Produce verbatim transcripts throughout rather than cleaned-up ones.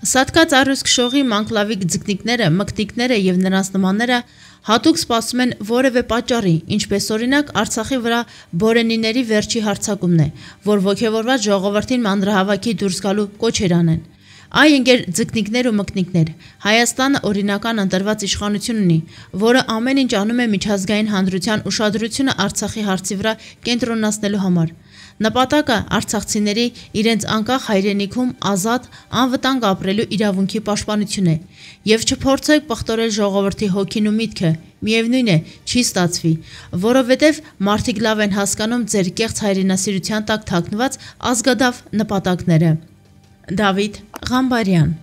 Սատկած առյուծ քշողի մանկլավիկ ձկնիկները, մկտիկները եւ նրանց նմանները հատուկ սպասում են որևէ պատճառի, ինչպես օրինակ Արցախի վրա բորենիների վերջի հարձակումն է, որ ոգևորված ժողովրդին մանրահավաքի դուրս գալու կոչեր անեն։ Այ ընկեր ձկնիկներ ու մկնիկներ, Հայաստանը օրինական ընտրված իշխանություն ունի, որը ամեն ինչ անում է միջազգային հանրության ուշադրությունը Արցախի հարցի վրա կենտրոնացնելու համար։ Նպատակը արցախցիների իրենց անկախ հայրենիքում ազատ, անվտանգ ապրելու իրավունքի պաշտպանություն է, եւ չփորձեք պղտորել ժողովրդի հոգին ու միտքը, միևնույն է, չի ստացվի, որովհետեւ մարդիկ լավ են հասկանում ձեր կեղծ հայրենասիրության տակ թաքնված ազգադավ նպատակները։ Դավիթ Ղամբարյան։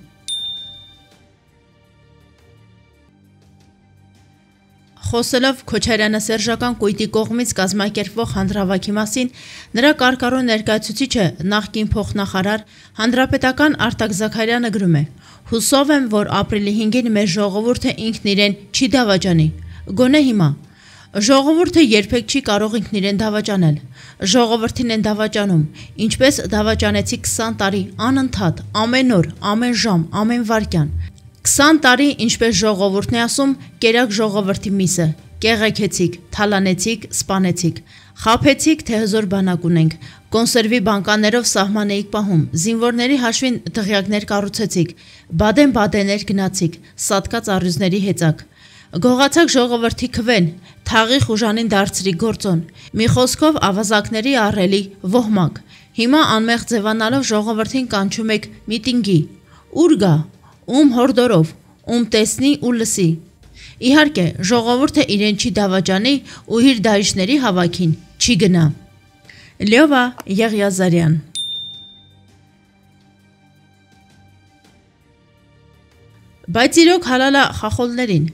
Խոսելով Քոչարյանը Սերժական կույտի կողմից կազմակերպվող հանրահավաքի մասին, նրա կարկառու ներկայացուցիչը նախկին փոխնախարար հանրապետական Արտակ Զաքարյանը գրում է. «Հուսով եմ, որ ապրիլի հինգին մեր ժողովուրդը ինքն իրեն չի դավաճանի, գոնե հիմա։ Ժողովուրդը երբեք չի կարող ինքն իրեն դավաճանել։ Ժողովրդին են դավաճանում, ինչպես դավաճանեցի քսան տարի անընդհատ, ամեն օր, ամեն ժամ, ամեն վայրկյան։ քսան տարի, ինչպես ժողովուրդն է ասում, կերակ ժողովրդի միսը, կեղեքեցիք, թալանեցիք, սպանեցիք, խաբեցիք, թե հզոր բանակ ունենք, կոնսերվի բանկաներով սահման էիք պահում, զինվորների հաշվին դղյակներ կառուցեցիք, բադեն-բադեներ գնացիք, սատկած առյուծների հեծակ։ Գողացակ ժողովրդի քվեն, թաղի խուժանին դարձրի գործոն, մի խոսքով ավազակների առելի ոհմակ։ Հիմա անմեղ ձևանալով ժողովրդին կանչում եք միտինգի։ Ուր գա, ում հորդորով, ում տեսնի ու լսի։ Իհարկե, ժողովուրդը իրեն չի դավաճանի ու իր դահիճների հավաքին չի գնա։ Լյովա Եղիազարյան։ Բայց իրոք հալալա խախոլներին։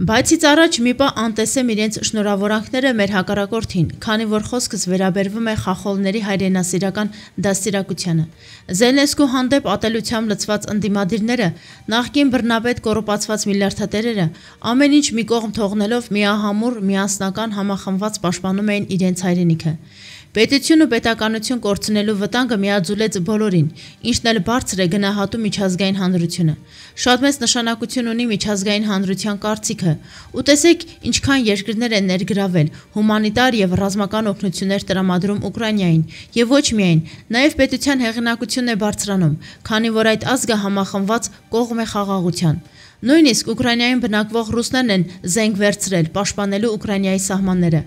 Բայցից առաջ մի պահ անտեսեմ իրենց շնորհավորանքները մեր հակառակորդին, քանի որ խոսքս վերաբերվում է խախոլների հայրենասիրական դաստիարակությանը։ Զելենսկու հանդեպ ատելությամբ լցված ընդդիմադիրները, նախկին բռնապետ կոռուպացված միլիարդատերերը, ամեն ինչ մի կողմ թողնելով միահամուռ, միասնական համախմբված պաշտպանում էին իրենց հայրենիքը։ Պետություն ու պետականություն կորցնելու վտանգը միաձուլեց բոլորին, ինչն էլ բարձր է գնահատում միջազգային հանրությունը։ Շատ մեծ նշանակություն ունի միջազգային հանրության կարծիքը, ու տեսեք ինչքան երկրներ են ներգրավել, հումանիտար եւ ռազմական օգնություններ տրամադրում Ուկրաինային, եւ ոչ միայն, նաեւ պետության հեղինակությունն է բարձրանում, քանի որ այդ ազգը համախմբված կողմ է խաղաղության։ Նույնիսկ Ուկրաինայում բնակվող ռուսներն են զենք վերցրել պաշտպանելու Ուկրաինայի սահմանները։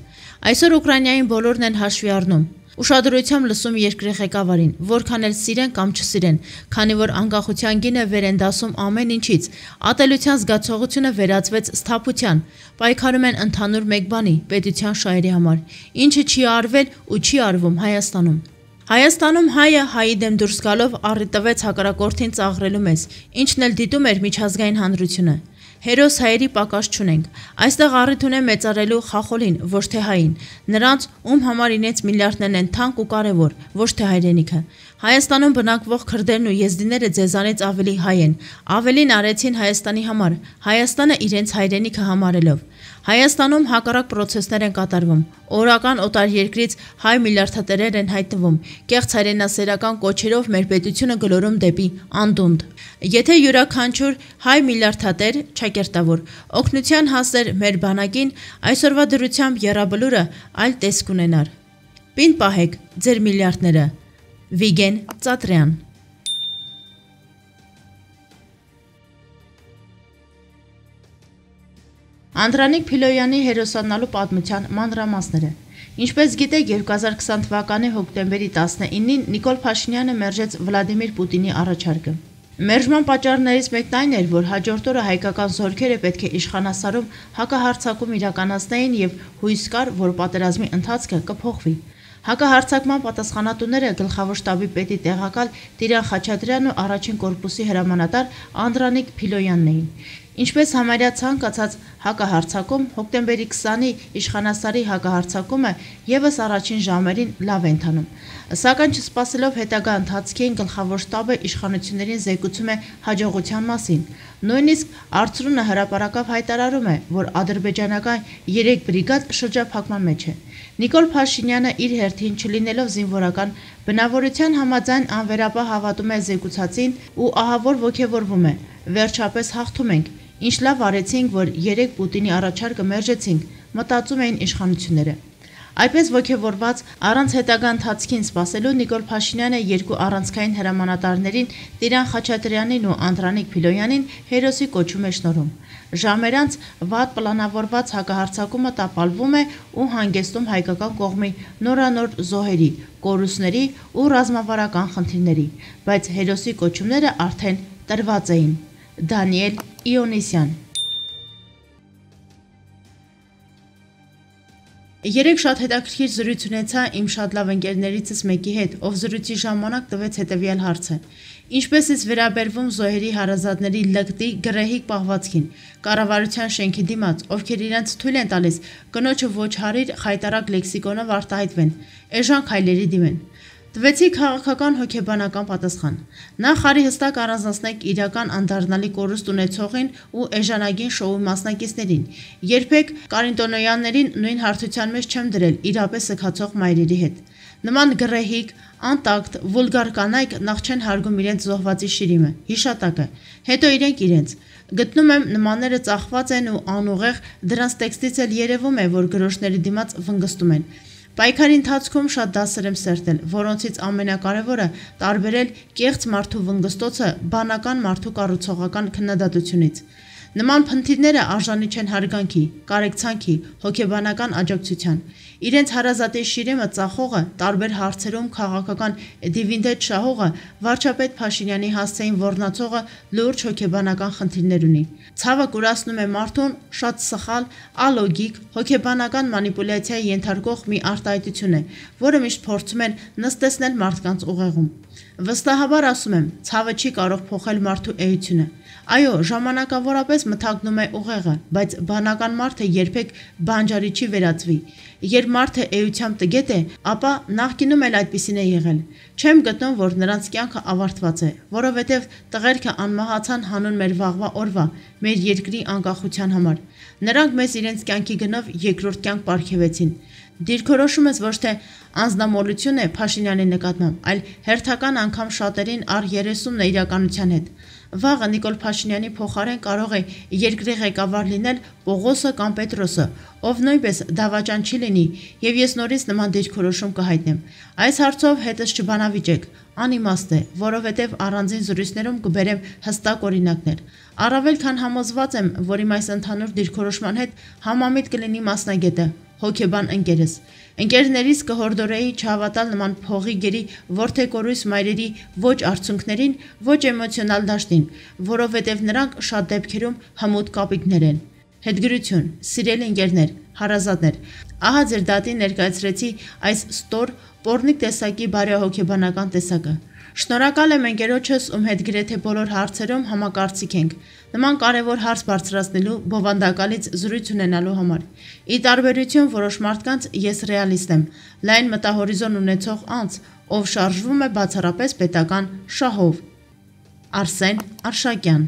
Այսօր Ուկրաինային բոլորն են հաշվի առնում։ Ուշադրությամբ լսում երկրի ղեկավարին, որքան էլ սիրեն կամ չսիրեն, քանի որ անկախության գինը վեր են դասում ամեն ինչից, ատելության զգացողությունը վերածվեց սթափության, պայքարում են ընդհանուր մեկ բանի՝ պետության շահերի համար, ինչը չի արվել ու չի արվում Հայաստանում։ Հայաստանում հայը հայի դեմ դուրս գալով առի տվեց հակառակորդին ծաղրելու մեզ, ինչն էլ դիտում էր միջազգային հանրությունը։ Հերոս հայերի պակաս չունենք, այստեղ առիթ ունեն մեծարելու խախոլին, ոչ թե հային, նրանց, ում համար իրենց միլիարդներն են թանկ ու կարևոր, ոչ թե հայրենիքը։ Հայաստանում բնակվող քրդերն ու եզդիները ձեզանից ավելի հայ են, ավելին արեցին Հայաստանի համար, Հայաստանը իրենց հայրենիքը համարելով։ Հայաստանում հակառակ պրոցեսներ են կատարվում, օրական օտար երկրից հայ միլիարդատերեր են հայտնվում, կեղծ հայրենասերական կոչերով մեր պետությունը գլորում դեպի անդունդ։ Եթե յուրաքանչյուր հայ միլիարդատեր, ճակերտավոր, օգնության հասներ մեր բանակին, այսօրվա դրությամբ եռաբլուրը այլ տեսք ունենար։ Պին պահեք ձեր միլիարդները։ Վիգեն Ծատրյան։ Անդրանիկ Փիլոյանի հերոսանալու պատմության մանրամասները։ Ինչպես գիտեք, երկու հազար քսան թվականի հոկտեմբերի տասնինին Նիկոլ Փաշինյանը մերժեց Վլադիմիր Պուտինի առաջարկը։ Մերժման պատճառներից մեկն այն էր, որ հաջորդ օրը հայկական զորքերը պետք է իշխանասարում հակահարձակում իրականացնեին եւ հույս կար, որ պատերազմի ընթացքը կփոխվի։ Հակահարձակման պատասխանատուները գլխավոր շտաբի պետի տեղակալ Տիրան Խաչատրյանն ու առաջին կորպուսի հրամանատար Անդրանիկ Փիլոյանն էին։ Ինչպես համարյա ցանկացած հակահարձակում, հոկտեմբերի քսանի իշխանասարի հակահարձակումը եւս առաջին ժամերին լավ է ընթանում։ Սակայն չսպասելով հետագա ընթացքին գլխավոր շտաբը իշխանություններին զեկուցում է հաջողության մասին։ Նույնիսկ Արցրունը հրապարակավ հայտարարում է, որ ադրբեջանական երեք բրիգադ շրջափակման մեջ է։ Նիկոլ Փաշինյանը իր հերթին չլինելով զինվորական բնավորության համաձայն անվերապահ հավատում է զեկուցածին ու ահավոր ոգևորվում է. «Վերջապես հաղթում ենք, ինչ լավ արեցինք, որ երեք Պուտինի առաջարկը մերժեցինք», մտածում էին իշխանությունները։ Այդպես ոգևորված, առանց հետագա ընթացքին սպասելու Նիկոլ Փաշինյանը երկու առանցքային հրամանատարներին Տիրան Խաչատրյանին ու Անդրանիկ Փիլոյանին հերոսի կոչում է շնորհում։ Ժամեր անց վատ պլանավորված հակահարձակումը տապալվում է ու հանգեցնում հայկական կողմի նորանոր զոհերի, կորուստների ու ռազմավարական խնդիրների, բայց հերոսի կոչումները արդեն տրված էին։ Դանիել Իոնիսյան։ Երեք շատ հետաքրքիր զրույց ունեցա իմ շատ լավ ընկերներիցս մեկի հետ, ով զրույցի ժամանակ տվեց հետևյալ հարցը. ինչպես ես վերաբերվում զոհերի հարազատների լկտի գռեհիկ պահվածքին, կառավարության շենքի դիմաց, ովքեր իրենց թույլ են տալիս կնոջը ոչ հարիր խայտարակ լեքսիկոնով արտահայտվեն, էժան քայլերի դիմեն։ Տվեցի քաղաքական հոգեբանական պատասխան։ Նախ արի հստակ առանձնացնենք իրական անդառնալի կորուստ ունեցողին ու էժանագին շոուի մասնակիցներին։ Երբեք Կարինտոնոյաններին նույն հարթության մեջ չեմ դրել իրապես սգացող մայրերի հետ։ Նման գռեհիկ, անտակտ, վուլգար կանայք նախ չեն հարգում իրենց զոհվածի շիրիմը, հիշատակը, հետո իրենք իրենց։ Գտնում եմ նմանները ծախված են ու անուղեղ, դրանց տեքստից էլ երևում է, որ գրոշների դիմաց վնգստում են։ Պայքարի ընթացքում շատ դասեր եմ սերտել, որոնցից ամենակարևորը տարբերել կեղծ մարդու վնգստոցը բանական մարդու կառուցողական քննադատությունից։ Նման փնթիրները արժանի չեն հարգանքի, կարեկցանքի, հոգեբանական աջակցության։ Իրենց հարազատի շիրիմը ծախողը, տարբեր հարցերում քաղաքական դիվիդենդ շահողը, վարչապետ Փաշինյանի հասցեին ոռնացողը լուրջ հոգեբանական խնդիրներ ունի։ Ցավը կուրացնում է մարդուն շատ սխալ, ալոգիկ, հոգեբանական մանիպուլյացիայի ենթարկող մի արտահայտություն է, որը միշտ փորձում են նստեցնել մարդկանց ուղեղում։ Վստահաբար ասում եմ, ցավը չի կարող փոխել մարդու էությունը։ Այո, ժամանակավորապես մթագնում է ուղեղը, բայց բանական մարդը երբեք բանջարի չի վերածվի։ Երբ մարդը էությամբ տգետ է, ապա նախկինում էլ այդպիսին է եղել։ Չեմ գտնում, որ նրանց կյանքը ավարտված է, որովհետև տղերքը անմահացան հանուն մեր վաղվա օրվա, մեր երկրի անկախության համար։ Նրանք մեզ իրենց կյանքի գնով երկրորդ կյանք պարգևեցին։ Դիրքորոշումս ոչ թե անձնամոլություն է Փաշինյանի նկատմամբ, այլ հերթական անգամ շատերին առ երեսումն է իրականության հետ։ Վաղը Նիկոլ Փաշինյանի փոխարեն կարող է երկրի ղեկավար լինել Պողոսը կամ Պետրոսը, ով նույնպես դավաճան չի լինի, եւ ես նորից նման դիրքորոշում կհայտնեմ։ Այս հարցով հետս չբանավիճեք, անիմաստ է, որովհետև առանձին զրույցներում կբերեմ հստակ օրինակներ։ Առավել քան համոզված եմ, որ իմ այս ընդհանուր դիրքորոշման հետ համամիտ կլինի մասնագետը, հոգեբան ընկերս։ Ընկերներից կհորդորեի չհավատալ նման փողի գերի որդեկորույս մայրերի ոչ արցունքներին, ոչ էմոցիոնալ դաշտին, որովհետև նրանք շատ դեպքերում հմուտ կապիկներ են։ Հետգրություն, սիրելի ընկերներ, հարազատներ, ահա ձեր դատին ներկայացրեցի այս ստոր, պոռնիկ տեսակի բարեհոգեբանական տեսակը։ Շնորհակալ եմ ընկերոջս, ում հետ գրեթե բոլոր հարցերում համակարծիք ենք, նման կարևոր հարց բարձրացնելու բովանդակալից զրույց ունենալու համար։ Ի տարբերություն որոշ մարդկանց ես ռեալիստ եմ, լայն մտահորիզոն ունեցող անձ, ով շարժվում է բացառապես պետական շահով։ Արսեն Արշակյան։